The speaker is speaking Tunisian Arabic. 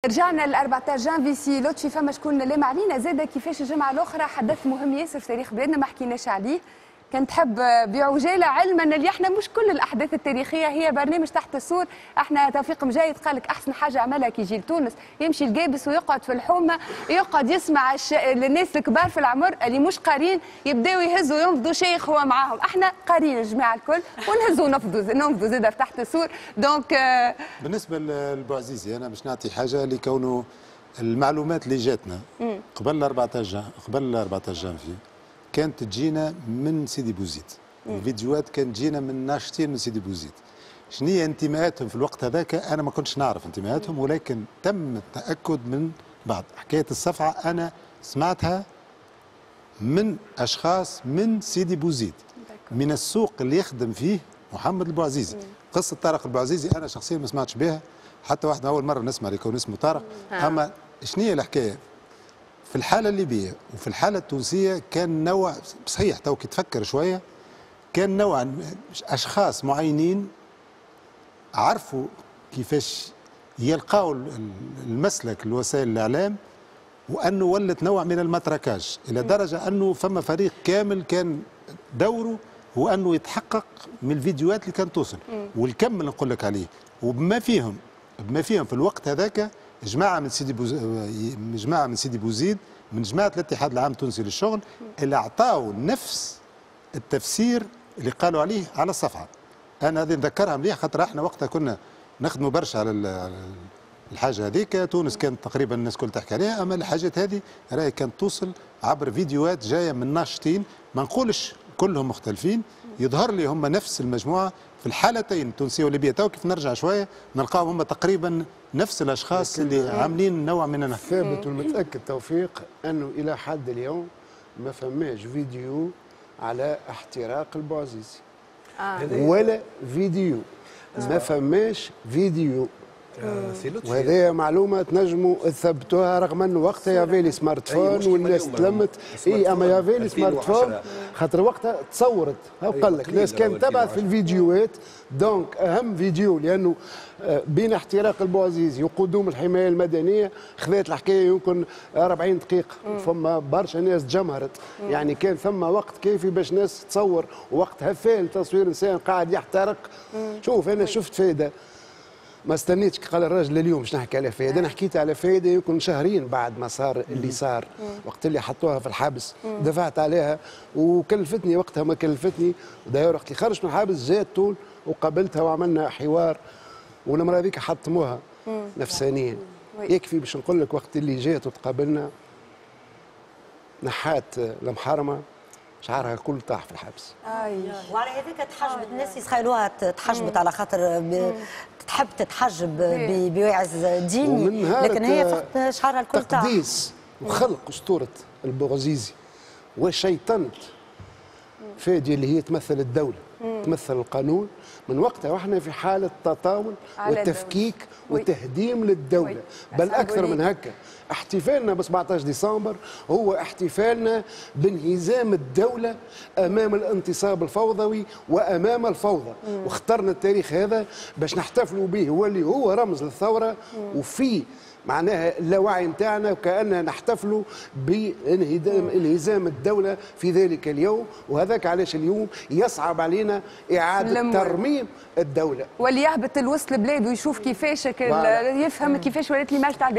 رجعنا ل 14 جانفي. سي لطفي، فما شكون لام علينا زاده كيفاش الجمعة الاخرى حدث مهم ياسر في تاريخ بلادنا ما حكيناش عليه. كان تحب بعجاله، علما اللي احنا مش كل الاحداث التاريخية هي برنامج تحت السور. احنا توفيق مجايد قال لك احسن حاجة عملها كي يجي لتونس يمشي القابس ويقعد في الحومه، يقعد يسمع الناس الكبار في العمر اللي مش قارين يبداو يهزوا ينفضوا شيخ هو معاهم. احنا قارين الجماعة الكل ونهزوا ننفضوا زاده في تحت السور. donc بالنسبة للبوعزيزي انا باش نعطي حاجة لكونه المعلومات اللي جاتنا قبل 14 قبل 14 جانفي كانت تجينا من سيدي بوزيد. الفيديوهات كانت تجينا من ناشطين من سيدي بوزيد. شنو هي انتماءاتهم في الوقت هذاك انا ما كنتش نعرف انتماءاتهم، ولكن تم التاكد من بعض. حكاية الصفعه انا سمعتها من اشخاص من سيدي بوزيد، من السوق اللي يخدم فيه محمد البوعزيزي. قصة طارق البوعزيزي انا شخصيا ما سمعتش بها حتى واحد، اول مرة نسمع يكون اسمه طارق. اما شنو هي الحكاية في الحالة الليبية وفي الحالة التونسية؟ كان نوع صحيح تو كي تفكر شوية كان نوع أشخاص معينين عرفوا كيفاش يلقاو المسلك لوسائل الإعلام، وأنه ولت نوع من ال matraquage إلى درجة أنه فما فريق كامل كان دوره هو أنه يتحقق من الفيديوهات اللي كانت توصل. والكم اللي نقول لك عليه وبما فيهم بما فيهم في الوقت هذاك جماعة من سيدي بوزيد، من جماعة الاتحاد العام التونسي للشغل، اللي اعطاوا نفس التفسير اللي قالوا عليه على الصفحة. انا هذه نذكرها مليح خاطر احنا وقتها كنا نخدموا برشا على الحاجة هذيك. تونس كانت تقريبا الناس كل تحكي عليها، اما الحاجات هذه راهي كانت توصل عبر فيديوهات جاية من ناشطين، ما نقولش كلهم مختلفين، يظهر لي هم نفس المجموعة في الحالتين التونسية والليبيه. تو كيف نرجع شوية نلقاهم هم تقريبا نفس الاشخاص اللي عاملين نوع من الثابت والمتاكد توفيق انه الى حد اليوم ما فماش فيديو على احتراق البوعزيزي. ولا فيديو، ما فماش فيديو. وهذه معلومة تنجموا تثبتوها، رغم انه وقتها y avait les smartphones والناس تلمت. اي اما y avait les smartphones خاطر وقتها تصورت، قال لك الناس كانت تبعث في الفيديوهات. donc اهم فيديو لانه بين احتراق البوعزيزي وقدوم الحماية المدنية خذات الحكاية يمكن 40 دقيقة. فما برشا ناس تجمهرت، يعني كان ثم وقت كافي باش ناس تصور، وقت هفال تصوير انسان قاعد يحترق. شوف انا شفت فايده ما استنيتش قال الراجل اليوم باش نحكي على فايده، انا حكيت على فايده يمكن شهرين بعد ما صار اللي صار، وقت اللي حطوها في الحبس دفعت عليها وكلفتني وقتها ما كلفتني. وداير وقت اللي خرجت من الحبس جات طول وقابلتها وعملنا حوار، والمرة هذيك حطموها نفسانيا. يكفي باش نقول لك وقت اللي جات وتقابلنا نحات المحرمة شعرها الكل طاح في الحبس. وعلى هذيك تحجبت، الناس يتخيلوها تحجبت على خاطر تحب تتحجب بواعز ديني، لكن هي فقط شعرها الكل طاح. تقديس وخلق اسطورة البوعزيزي وشيطنه فادي اللي هي تمثل الدولة، تمثل القانون، من وقتها واحنا في حاله تطاول وتفكيك وتهديم للدولة. بل اكثر من هكا، احتفالنا ب 17 ديسمبر هو احتفالنا بانهزام الدولة امام الانتصاب الفوضوي وامام الفوضى. واخترنا التاريخ هذا باش نحتفلوا به، هو اللي هو رمز للثورة وفي معناها اللاوعي نتاعنا، وكأننا نحتفلوا بانهزام الدولة في ذلك اليوم. وهذاك علاش اليوم يصعب علينا إعادة ترميم الدولة. واللي يهبط الوسط البلاد ويشوف كيفاش يفهم كيفاش ولات l'image تاع البلاد.